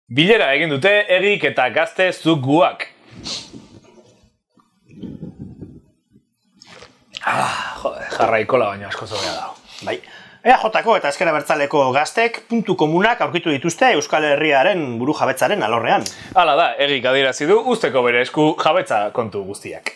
Bilera egin dute Egik eta Gazte Zuguak. Jarraikola baina asko zobea dago. Bai. EAJ-ko eta Ezker Abertzaleko gaztek puntu komunak aurkitu dituzte Euskal Herriaren buru jabetzaren alorrean. Hala da, Egik adierazi du usteko bere esku jabetza kontu guztiak.